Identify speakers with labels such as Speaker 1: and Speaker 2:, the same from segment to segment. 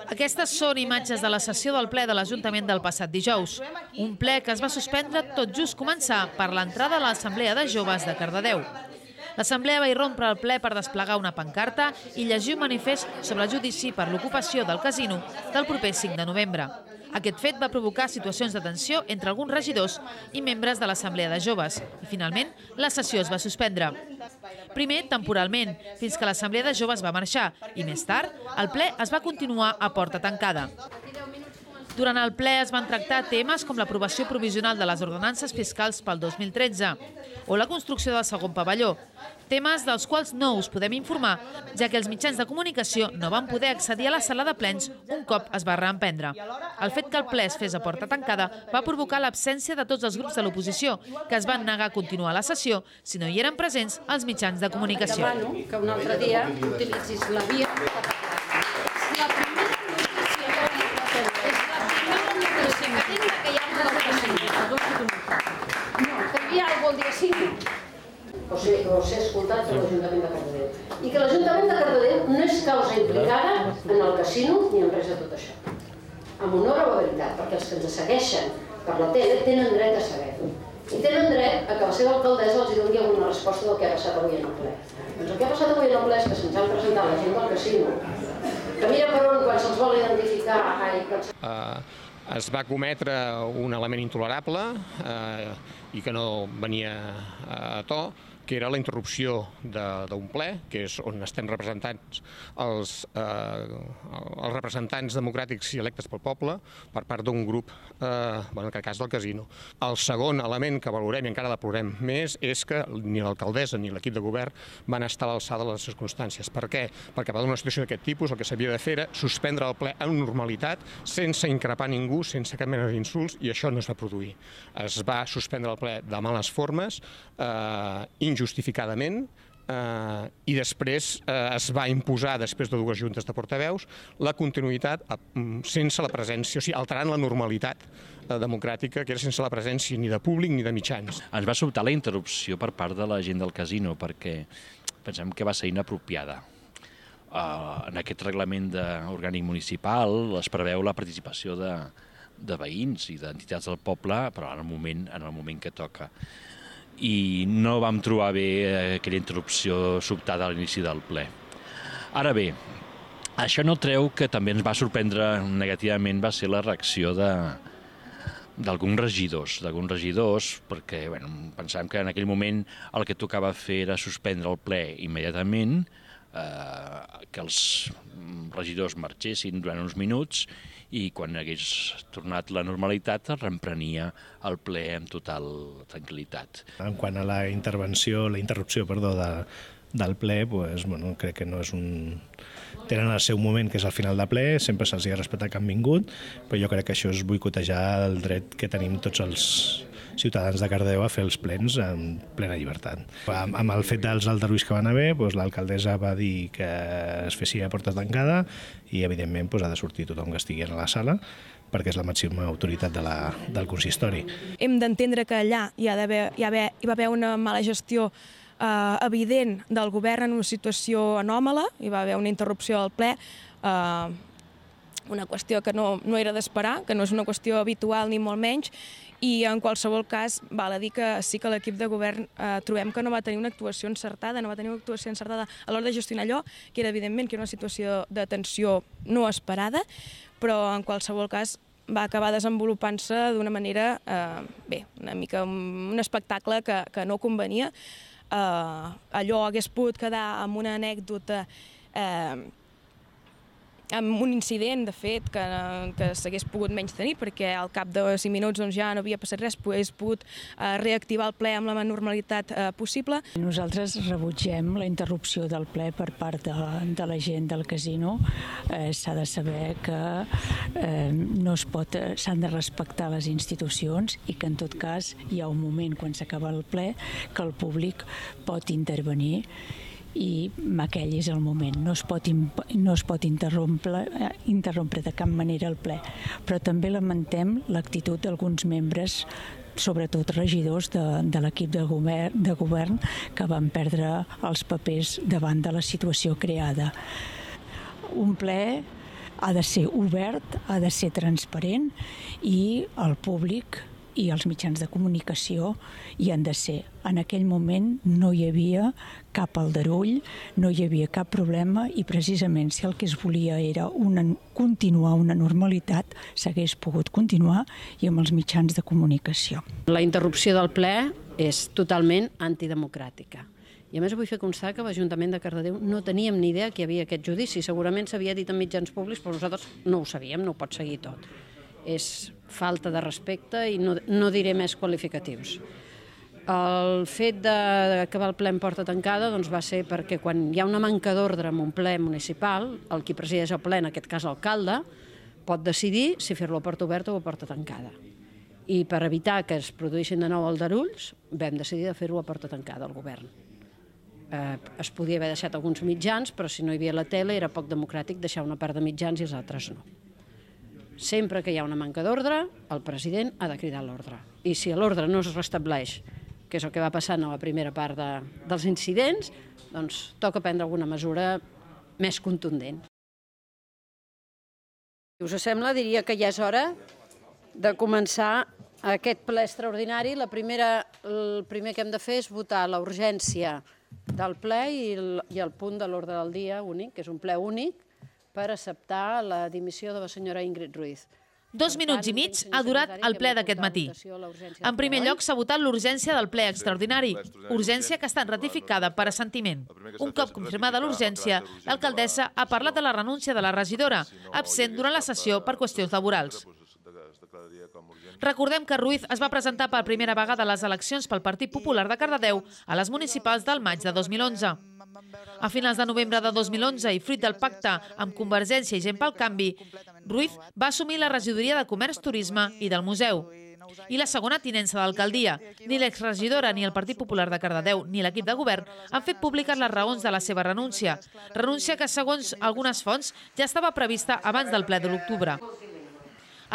Speaker 1: Aquestes són imatges de la sessió del ple de l'Ajuntament del passat dijous. Un ple que es va suspendre tot just començar per l'entrada a l'Assemblea de Joves de Cardedeu. L'Assemblea va irrompre el ple per desplegar una pancarta i llegir un manifest sobre el judici per l'ocupació del casino del proper 5 de novembre. Aquest fet va provocar situacions de tensió entre alguns regidors i membres de l'Assemblea de Joves i, finalment, la sessió es va suspendre. Primer, temporalment, fins que l'Assemblea de Joves va marxar i, més tard, el ple es va continuar a porta tancada. Durant el ple es van tractar temes com l'aprovació provisional de les ordenances fiscals pel 2013 o la construcció del segon pavelló, temes dels quals no us podem informar, ja que els mitjans de comunicació no van poder accedir a la sala de plens un cop es va reemprendre. El fet que el ple es fes a porta tancada va provocar l'absència de tots els grups de l'oposició, que es van negar a continuar la sessió si no hi eren presents els mitjans de comunicació.
Speaker 2: Demano que un altre dia utilitzis la via per parlar. La primera que hi ha una no, que hi havia alguna cosa el dia 5 o ser escoltat per l'Ajuntament de Cardedeu. I que l'Ajuntament de Cardedeu no és causa implicada en el casino ni en res de tot això. Amb honor a la veritat, perquè els que ens segueixen per la tele tenen dret a saber-ho. I tenen dret a que la seva alcaldessa els doni alguna resposta del que ha passat avui en el ple. Doncs el que ha passat avui en el ple és que se'ns han presentat la gent del casino, que mira per on quan se'ls vol identificar...
Speaker 3: Es va cometre un element intolerable i que no venia a to, que era la interrupció d'un ple, que és on estem representats els representants democràtics i electes pel poble per part d'un grup, en aquest cas del casino. El segon element que valorem i encara deplorem més és que ni l'alcaldessa ni l'equip de govern van estar a l'alçada de les circumstàncies. Per què? Perquè per una situació d'aquest tipus el que s'havia de fer era suspendre el ple en normalitat, sense increpar ningú, sense cap mena d'insults, i això no es va produir. Es va suspendre el ple de males formes, injustificadament, i després es va imposar, després de dues juntes de portaveus, la continuïtat sense la presència, o sigui, alterant la normalitat democràtica, que era sense la presència ni de públic ni de mitjans.
Speaker 4: Ens va sobtar la interrupció per part de la gent del casino, perquè pensem que va ser inapropiada. En aquest reglament orgànic municipal es preveu la participació de veïns i d'entitats del poble, però en el moment que toca. I no vam trobar bé aquella interrupció sobtada a l'inici del ple. Ara bé, això no treu que també ens va sorprendre negativament va ser la reacció d'alguns regidors, perquè pensàvem que en aquell moment el que tocava fer era suspendre el ple immediatament, que els regidors marxessin durant uns minuts i quan hagués tornat la normalitat es reemprenia el ple amb total tranquil·litat.
Speaker 5: En quant a la interrupció del ple, crec que no és un... Tenen el seu moment, que és al final de ple, sempre se'ls ha respectat que han vingut, però jo crec que això és boicotejar el dret que tenim tots els ciutadans de Cardedeu a fer els plens en plena llibertat. Amb el fet dels aldarulls que van haver, l'alcaldessa va dir que es fessin a porta tancada i, evidentment, ha de sortir tothom que estigui a la sala perquè és la màxima autoritat del consistori.
Speaker 6: Hem d'entendre que allà hi va haver una mala gestió evident del govern en una situació anòmala, hi va haver una interrupció del ple, una qüestió que no era d'esperar, que no és una qüestió habitual ni molt menys, i en qualsevol cas val a dir que sí que l'equip de govern trobem que no va tenir una actuació encertada, a l'hora de gestionar allò, que era evidentment que era una situació de tensió no esperada, però en qualsevol cas va acabar desenvolupant-se d'una manera, una mica un espectacle que no convenia. Allò hagués pogut quedar amb una anècdota, amb un incident, de fet, que s'hagués pogut menys tenir, perquè al cap de 5 minuts ja no havia passat res, hagués pogut reactivar el ple amb la normalitat possible.
Speaker 7: Nosaltres rebutgem la interrupció del ple per part de la gent del casino. S'ha de saber que s'han de respectar les institucions i que en tot cas hi ha un moment quan s'acaba el ple que el públic pot intervenir i aquell és el moment. No es pot interrompre de cap manera el ple. Però també lamentem l'actitud d'alguns membres, sobretot regidors de l'equip de govern, que van perdre els papers davant de la situació creada. Un ple ha de ser obert, ha de ser transparent i el públic i els mitjans de comunicació hi han de ser. En aquell moment no hi havia cap aldarull, no hi havia cap problema i precisament si el que es volia era continuar una normalitat, s'hagués pogut continuar i amb els mitjans de comunicació.
Speaker 2: La interrupció del ple és totalment antidemocràtica. I a més vull fer constar que l'Ajuntament de Cardedeu no teníem ni idea que hi havia aquest judici. Segurament s'havia dit en mitjans públics, però nosaltres no ho sabíem, no ho pot seguir tot. És falta de respecte i no diré més qualificatius. El fet d'acabar el ple en porta tancada va ser perquè quan hi ha una manca d'ordre en un ple municipal, el qui presideix el ple, en aquest cas l'alcalde, pot decidir si fer-lo a porta oberta o a porta tancada. I per evitar que es produïssin de nou aldarulls, vam decidir de fer-ho a porta tancada al govern. Es podia haver deixat alguns mitjans, però si no hi havia la tele era poc democràtic deixar una part de mitjans i els altres no. Sempre que hi ha una manca d'ordre, el president ha de cridar l'ordre. I si l'ordre no es restableix, que és el que va passar en la primera part dels incidents, doncs toca prendre alguna mesura més contundent. Si us sembla, diria que ja és hora de començar aquest ple extraordinari. El primer que hem de fer és votar la urgència del ple i el punt de l'ordre del dia únic, que és un ple únic, per acceptar la dimissió de la senyora Ingrid Ruiz.
Speaker 1: 2 minuts i mig ha durat el ple d'aquest matí. En primer lloc, s'ha votat l'urgència del ple extraordinari, urgència que ha estat ratificada per assentiment. Un cop confirmada l'urgència, l'alcaldessa ha parlat de la renúncia de la regidora, absent durant la sessió per qüestions laborals. Recordem que Ruiz es va presentar per primera vegada a les eleccions pel Partit Popular de Cardedeu a les municipals del maig de 2011. A finals de novembre de 2011 i fruit del pacte amb Convergència i Gent pel Canvi, Ruiz va assumir la regidoria de Comerç, Turisme i del Museu i la segona tinença d'alcaldia. Ni l'exregidora ni el Partit Popular de Cardedeu ni l'equip de govern han fet públiques les raons de la seva renúncia. Renúncia que, segons algunes fonts, ja estava prevista abans del ple de l'octubre.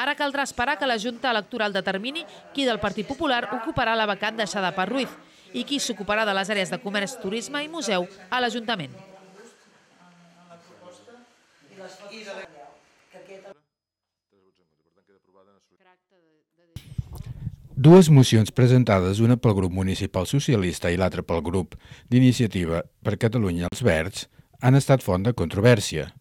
Speaker 1: Ara caldrà esperar que la Junta Electoral determini qui del Partit Popular ocuparà la vacant deixada per Ruiz i qui s'ocuparà de les àrees de comerç, turisme i museu a l'Ajuntament.
Speaker 8: Dues mocions presentades, una pel grup municipal socialista i l'altra pel grup d'Iniciativa per Catalunya els Verds, han estat font de controvèrsia.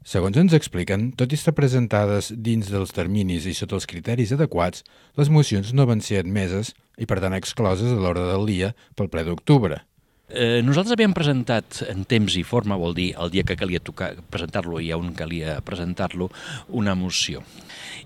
Speaker 8: Segons ens expliquen, tot i estar presentades dins dels terminis i sota els criteris adequats, les mocions no van ser admeses i, per tant, excloses a l'ordre del dia pel ple d'octubre.
Speaker 4: Nosaltres havíem presentat en temps i forma, vol dir el dia que calia presentar-lo i on calia presentar-lo, una moció.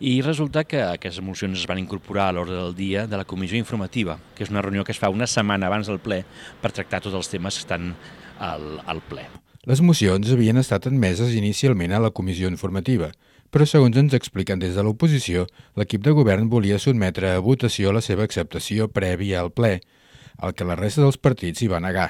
Speaker 4: I resulta que aquestes mocions es van incorporar a l'ordre del dia de la comissió informativa, que és una reunió que es fa una setmana abans del ple per tractar tots els temes que estan al ple.
Speaker 8: Les mocions havien estat admeses inicialment a la comissió informativa, però segons ens expliquen des de l'oposició, l'equip de govern volia sotmetre a votació la seva acceptació prèvia al ple, el que la resta dels partits hi va negar.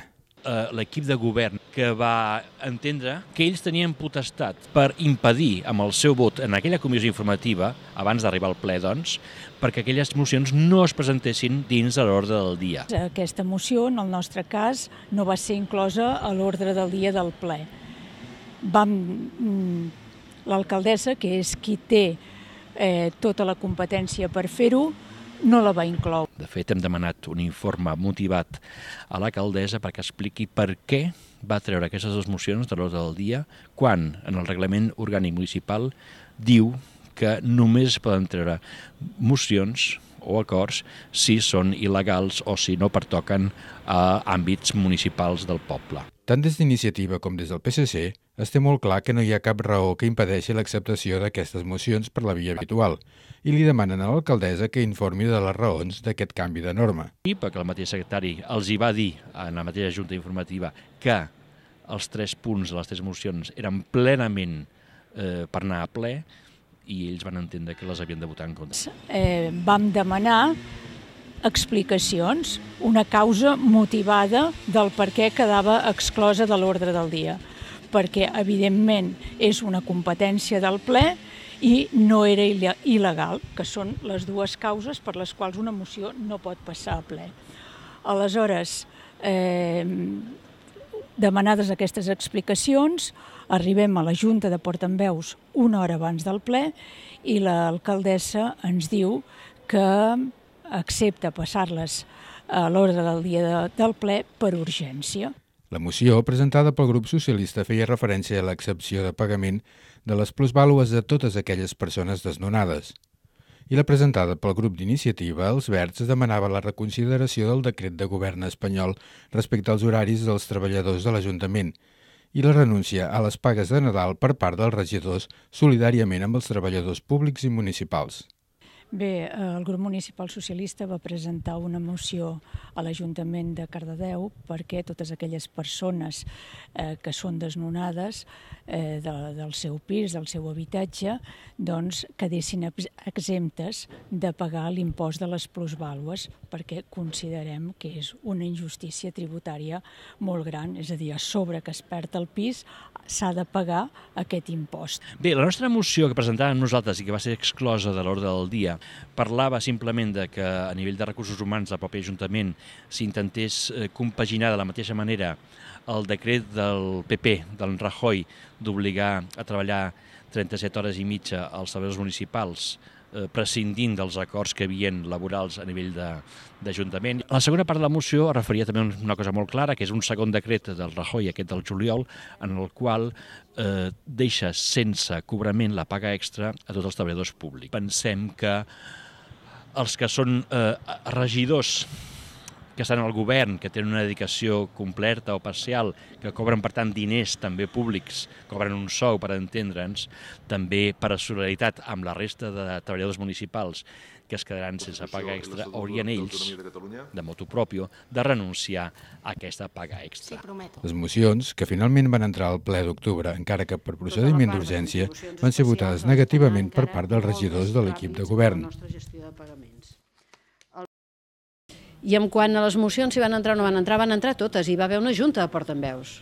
Speaker 4: L'equip de govern que va entendre que ells tenien potestat per impedir amb el seu vot en aquella comissió informativa, abans d'arribar al ple, doncs, perquè aquelles mocions no es presentessin dins de l'ordre del dia.
Speaker 7: Aquesta moció, en el nostre cas, no va ser inclosa a l'ordre del dia del ple. L'alcaldessa, que és qui té tota la competència per fer-ho, no la va incloure.
Speaker 4: De fet, hem demanat un informe motivat a l'alcaldessa perquè expliqui per què va treure aquestes dues mocions de l'ordre del dia quan en el reglament orgànic municipal diu que només es poden treure mocions o acords si són il·legals o si no pertoquen a àmbits municipals del poble.
Speaker 8: Tant des d'Iniciativa com des del PSC es té molt clar que no hi ha cap raó que impedeixi l'acceptació d'aquestes mocions per la via habitual i li demanen a l'alcaldessa que informi de les raons d'aquest canvi de norma.
Speaker 4: I perquè el mateix secretari els hi va dir en la mateixa junta informativa que els 3 punts de les 3 mocions eren plenament per anar a ple i ells van entendre que les havien de votar en contra.
Speaker 7: Vam demanar explicacions, una causa motivada del per què quedava exclosa de l'ordre del dia, perquè evidentment és una competència del ple i no era il·legal, que són les dues causes per les quals una moció no pot passar a ple. Aleshores, demanades aquestes explicacions, arribem a la Junta de Portaveus una hora abans del ple i l'alcaldessa ens diu que accepta passar-les a l'ordre del dia del ple per urgència.
Speaker 8: La moció, presentada pel grup socialista, feia referència a l'excepció de pagament de les plusvàlues de totes aquelles persones desnonades. I la presentada pel grup d'iniciativa, els Verds, demanava la reconsideració del decret de govern espanyol respecte als horaris dels treballadors de l'Ajuntament i la renúncia a les pagues de Nadal per part dels regidors solidàriament amb els treballadors públics i municipals.
Speaker 7: Bé, el grup municipal socialista va presentar una moció a l'Ajuntament de Cardedeu perquè totes aquelles persones que són desnonades del seu pis, del seu habitatge, doncs quedessin exemptes de pagar l'impost de les plusvàlues perquè considerem que és una injustícia tributària molt gran, és a dir, a sobre que es perd el pis s'ha de pagar aquest impost.
Speaker 4: Bé, la nostra moció que presentàvem nosaltres i que va ser exclosa de l'ordre del dia parlava simplement de que a nivell de recursos humans del propi Ajuntament s'intentés compaginar de la mateixa manera el decret del PP, del Rajoy, d'obligar a treballar 37 hores i mitja als treballadors municipals, prescindint dels acords que hi havia laborals a nivell d'Ajuntament. La segona part de la moció es referia també a una cosa molt clara, que és un segon decret del Rajoy, aquest del juliol, en el qual deixa sense cobrament la paga extra a tots els treballadors públics. Pensem que els que són regidors que estan al govern, que tenen una dedicació completa o parcial, que cobren, per tant, diners també públics, cobren un sou, per entendre'ns, també per a solidaritat amb la resta de treballadors municipals que es quedaran sense paga extra, haurien ells, de motu propio, de renunciar a aquesta paga extra.
Speaker 8: Les mocions, que finalment van entrar al ple d'octubre, encara que per procediment d'urgència, van ser votades negativament per part dels regidors de l'equip de govern.
Speaker 2: I en quant a les mocions si van entrar o no van entrar totes. Hi va haver una junta de portaveus.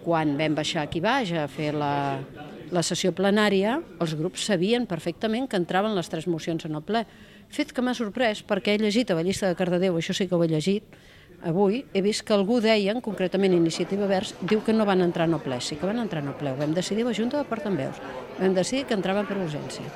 Speaker 2: Quan vam baixar aquí baix a fer la sessió plenària, els grups sabien perfectament que entraven les 3 mocions en el ple. Fet que m'ha sorprès, perquè he llegit a la llista de Cardedeu, això sí que ho he llegit, avui he vist que algú deia, concretament Iniciativa Verds, diu que no van entrar en el ple. Sí que van entrar en el ple, ho vam decidir a la junta de portaveus. Vam decidir que entraven per urgència.